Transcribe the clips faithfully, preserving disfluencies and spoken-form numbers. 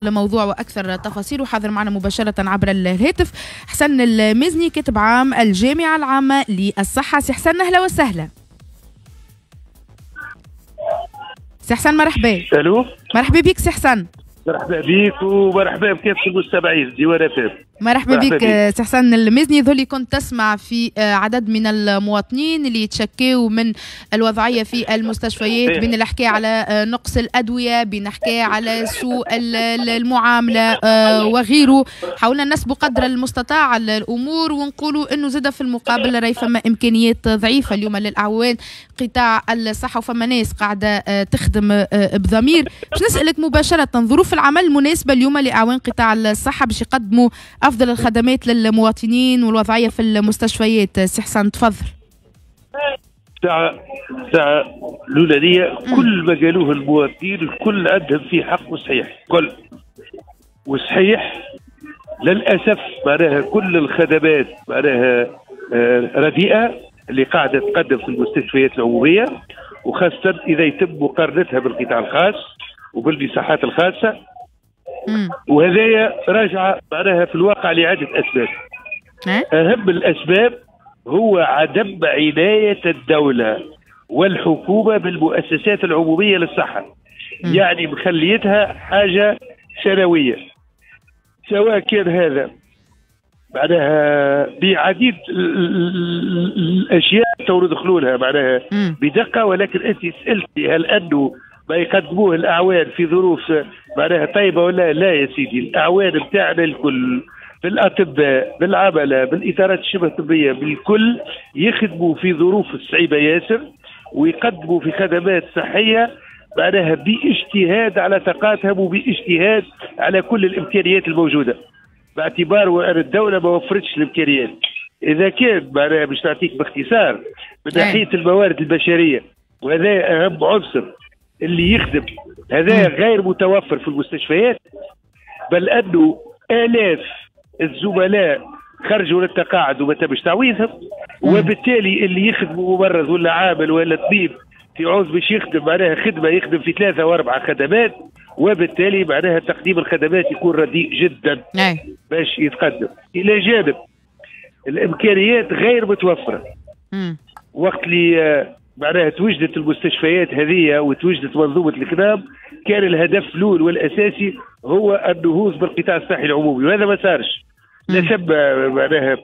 الموضوع وأكثر تفاصيل. وحاضر معنا مباشرة عبر الهاتف حسن المزني، كاتب عام الجامعة العامة للصحة. سي حسن، أهلا وسهلا. سي حسن مرحبا. الو، مرحبا بك سي حسن. مرحبا بك ومرحبا بكافة المستمعين ديوان اف ام. مرحبا بك سي حسن المزني. ذولي كنت تسمع في عدد من المواطنين اللي يتشكاو من الوضعية في المستشفيات، بين الحكاية على نقص الأدوية، بين الحكاية على سوء المعاملة وغيره. حاولنا نسبق قدر المستطاع الأمور ونقولوا أنه زاد في المقابل راهي فما إمكانيات ضعيفة اليوم للأعوان قطاع الصحة، وفما ناس قاعدة تخدم بضمير. باش نسألك مباشرة، ظروف العمل المناسبة اليوم لأعوان قطاع الصحة باش يقدموا أفضل الخدمات للمواطنين والوضعية في المستشفيات، سي حسن تفضل. ساعة ساعة الأولانية كل ما قالوه المواطنين الكل عندهم فيه حق وصحيح، كل وصحيح للأسف. معناها كل الخدمات معناها رديئة اللي قاعدة تقدم في المستشفيات العمومية، وخاصة إذا يتم مقارنتها بالقطاع الخاص وبالمساحات الخاصة. وهذايا راجعة معناها في الواقع لعدة أسباب. أهم الأسباب هو عدم عناية الدولة والحكومة بالمؤسسات العمومية للصحة. مم. يعني مخليتها حاجة سنوية، سواء كان هذا معناها بعديد الأشياء تو ندخلوا لها معناها بدقة، ولكن أنت سألتي هل أنه ما يقدموه الأعوان في ظروف معناها طيبة ولا لا؟ يا سيدي الأعوان بتاعنا الكل، بالأطباء، بالعملة، بالإطارات الشبه الطبية، بالكل يخدموا في ظروف صعيبة ياسر، ويقدموا في خدمات صحية معناها باجتهاد على طاقاتهم وباجتهاد على كل الإمكانيات الموجودة، باعتبار أن الدولة ما وفرتش الإمكانيات. إذا كان معناها باش نعطيك باختصار من ناحية الموارد البشرية، وهذا أهم عنصر اللي يخدم، هذا غير متوفر في المستشفيات، بل أنه آلاف الزملاء خرجوا للتقاعد وما تمش تعويضهم، وبالتالي اللي يخدموا ممرض ولا عامل ولا طبيب في عوز باش يخدم معناها خدمة يخدم في ثلاثة وأربعة خدمات، وبالتالي معناها تقديم الخدمات يكون رديء جدا باش يتقدم. إلى جانب الإمكانيات غير متوفرة. وقت اللي معناها توجدت المستشفيات هذه وتوجدت منظومة الكنام، كان الهدف الأول والأساسي هو النهوض بالقطاع الصحي العمومي، وهذا ما صارش. لا ثم معناها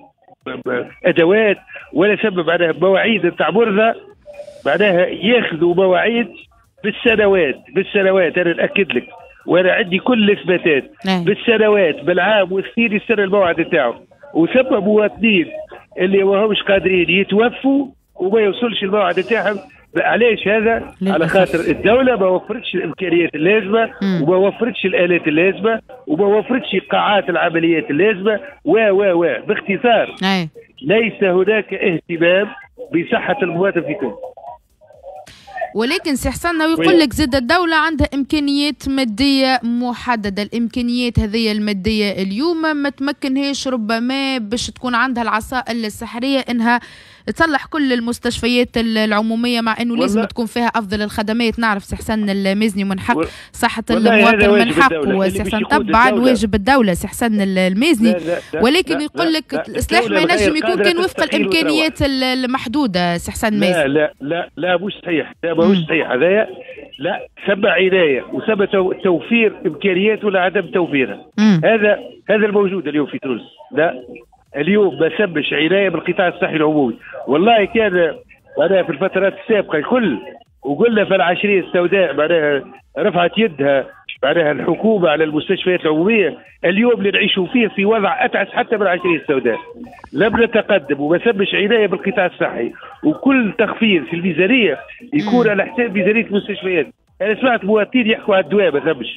أدوات ولا ثم معناها مواعيد نتاع مرضى، معناها ياخذوا مواعيد بالسنوات بالسنوات. أنا نأكد لك وأنا عندي كل الإثباتات، بالسنوات، بالعام والسنين يستنى الموعد نتاعو، وثم مواطنين اللي ما همش قادرين يتوفوا وما يوصلش الموعد نتاعهم. علاش هذا؟ على خاطر الدولة ما وفرتش الإمكانيات اللازمة، وما وفرتش الآلات اللازمة، وما وفرتش قاعات العمليات اللازمة، و و و باختصار ليس هناك اهتمام بصحة المواطن في تونس. ولكن سي حسن يقول لك زاد الدولة عندها إمكانيات مادية محددة، الإمكانيات هذه المادية اليوم ما تمكنهاش ربما باش تكون عندها العصا السحرية إنها تصلح كل المستشفيات العمومية، مع إنه لازم تكون فيها أفضل الخدمات. نعرف سي حسن المزني من حق صحة المواطن من حق، وسي حسن طبعا واجب الدولة سي حسن المزني، ولكن يقول لك الإصلاح ما ينجم يكون كان وفق الإمكانيات المحدودة سي حسن المزني. لا لا لا لا مش صحيح، لا ماهوش صحيح هذايا. لا ثم عناية وثم توفير إمكانيات ولا عدم توفيرها. هذا هذا الموجود اليوم في تونس. لا اليوم ما ثمش عناية بالقطاع الصحي العمومي. والله كان معناها في الفترات السابقة الكل، وقلنا في العشريه السوداء معناها رفعت يدها معناها الحكومة على المستشفيات العمومية. اليوم اللي نعيشوا فيه في وضع اتعس حتى من العشريه السوداء. لم نتقدم وما ثمش عناية بالقطاع الصحي، وكل تخفيض في الميزانية يكون على حساب ميزانية المستشفيات. انا سمعت مواطنين يحكوا على الدواء ما ثمش.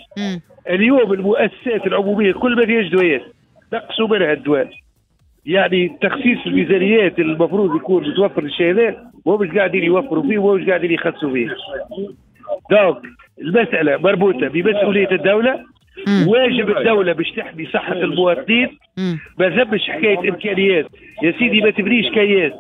اليوم المؤسسات العمومية كل ما فيهاش دوايات، نقصوا منها الدواء. يعني تخصيص الميزانيات المفروض يكون متوفر للشيء هذا مش قاعدين يوفروا فيه ومش قاعدين يخصوا فيه. donc المسألة مربوطة بمسؤولية الدولة، واجب الدولة باش تحمي صحة المواطنين. ما ثمش حكاية إمكانيات يا سيدي، ما تبنيش كياس،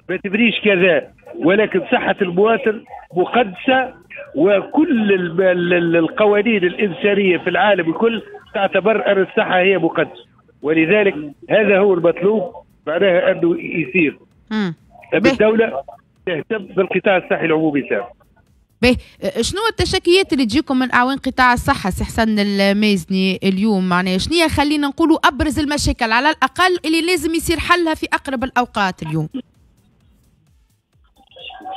ما تبنيش كذا، ولكن صحة المواطن مقدسة وكل القوانين الإنسانية في العالم الكل تعتبر أن الصحة هي مقدسة، ولذلك هذا هو المطلوب، معناها أنه يصير الدولة تهتم بالقطاع الصحي العمومي تاعو. باهي، شنو التشكيات اللي تجيكم من اعوان قطاع الصحة سي حسن المازني اليوم؟ معناها شنو خلينا نقولوا ابرز المشاكل على الاقل اللي لازم يصير حلها في اقرب الاوقات اليوم؟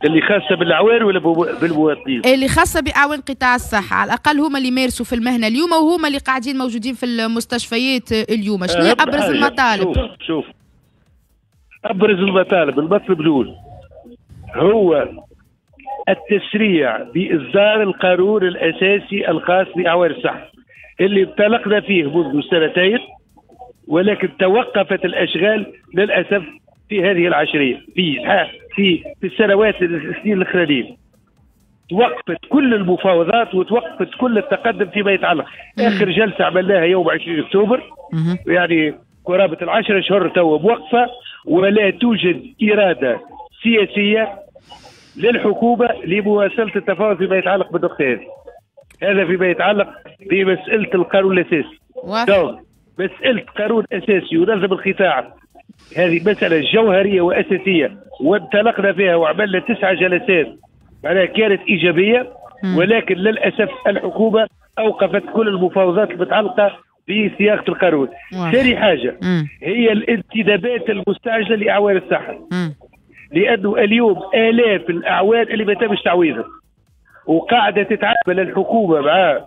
اللي خاصة بالاعوان ولا بالمواطنين؟ اللي خاصة باعوان قطاع الصحة، على الاقل هما اللي يمارسوا في المهنة اليوم وهما اللي قاعدين موجودين في المستشفيات اليوم، شنو ابرز المطالب؟ شوف شوف ابرز المطالب، المطلب الاول هو التسريع بإصدار القانون الأساسي الخاص بأعوان الصحة اللي انطلقنا فيه منذ سنتين، ولكن توقفت الأشغال للأسف في هذه العشرية، في في في السنوات السنين الأخرانيين توقفت كل المفاوضات وتوقفت كل التقدم فيما يتعلق. آخر جلسة عملناها يوم عشرين أكتوبر، يعني قرابة العشرة أشهر تو موقفة، ولا توجد إرادة سياسية للحكومة لمواصلة التفاوض فيما يتعلق بالنقطة هذه. هذا فيما يتعلق بمسألة القانون الأساسي. donc مسألة قانون أساسي ينظم القطاع هذه مسألة جوهرية وأساسية، وانطلقنا فيها وعملنا تسعة جلسات معناها كانت إيجابية، ولكن للأسف الحكومة أوقفت كل المفاوضات المتعلقة بصياغة القانون. ثاني حاجة مم. هي الانتدابات المستعجلة لأعوان الصحة، مم. لأنه اليوم آلاف الأعوان اللي ما تمش تعويضهم، وقاعدة تتعامل الحكومة مع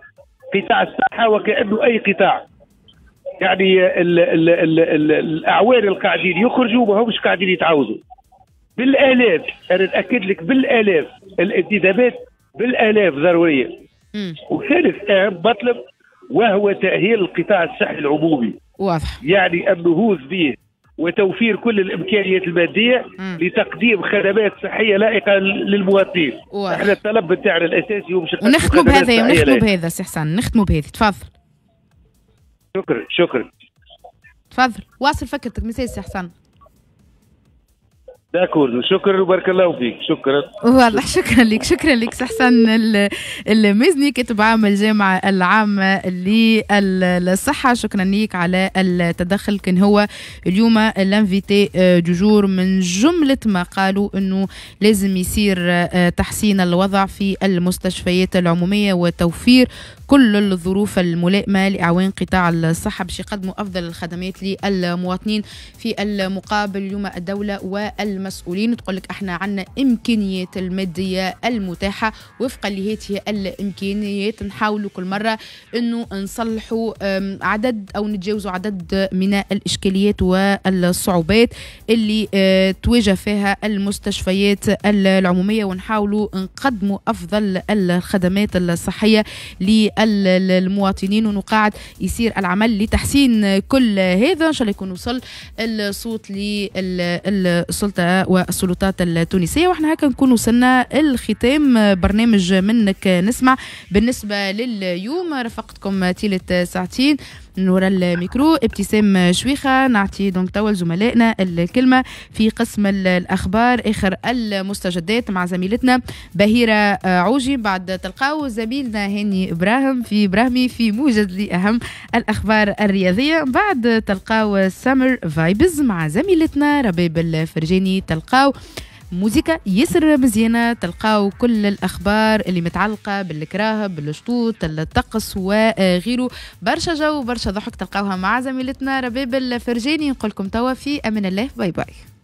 قطاع الصحة وكأنه أي قطاع. يعني ال ال ال ال الأعوان القاعدين يخرجوا ما همش قاعدين يتعوضوا بالآلاف. أنا نأكد لك بالآلاف، الانتدابات بالآلاف ضرورية. وثالث أهم مطلب وهو تأهيل القطاع الصحي العمومي. واضح. يعني النهوض به وتوفير كل الامكانيات المادية مم. لتقديم خدمات صحية لائقة للمواطنين. احنا الطلب بتاعنا الاساسي هو مش ونختموا بهذا، ونختموا بهذا سي حسن، نختموا بهذا. تفضل. شكرا شكرا. تفضل واصل فكرتك مساء سي حسن. d'accord، شكرا وبارك الله فيك. شكرا والله، شكرا لك، شكرا لك سي حسن المزني، كاتب عام الجامعة العامة للصحة. شكرا لك على التدخل. كان هو اليوم l'invité du jour. من جملة ما قالوا انه لازم يصير تحسين الوضع في المستشفيات العمومية وتوفير كل الظروف الملائمة لأعوان قطاع الصحة باش يقدموا أفضل الخدمات للمواطنين. في المقابل اليوم الدولة والمسؤولين تقول لك احنا عندنا إمكانيات المادية المتاحة، وفقا لهذه الإمكانيات نحاولوا كل مرة أنه نصلحوا عدد أو نتجاوزوا عدد من الإشكاليات والصعوبات اللي تواجه فيها المستشفيات العمومية، ونحاولوا نقدموا أفضل الخدمات الصحية للمواطنين، ونقاعد يصير العمل لتحسين كل هذا. إن شاء الله يكون وصل الصوت للسلطة والسلطات التونسية. واحنا هكا نكون وصلنا الختام برنامج منك نسمع بالنسبة لليوم. رفقتكم تيلة ساعتين من وراء الميكرو ابتسام شويخة. نعطي donc توا لزملائنا الكلمة في قسم الأخبار آخر المستجدات مع زميلتنا بهيرة عوجي. بعد تلقاو زميلنا هاني إبراهيم في إبراهيمي في موجز لأهم الأخبار الرياضية. بعد تلقاو Summer Vibes مع زميلتنا رباب الفرجاني. تلقاو موزيكا ياسر مزيانة، تلقاو كل الأخبار اللي متعلقة بالكراهب بالشطوط الطقس وغيره. برشا جو برشا ضحك تلقاوها مع زميلتنا رباب الفرجاني. نقول لكم توا في أمان الله، bye bye.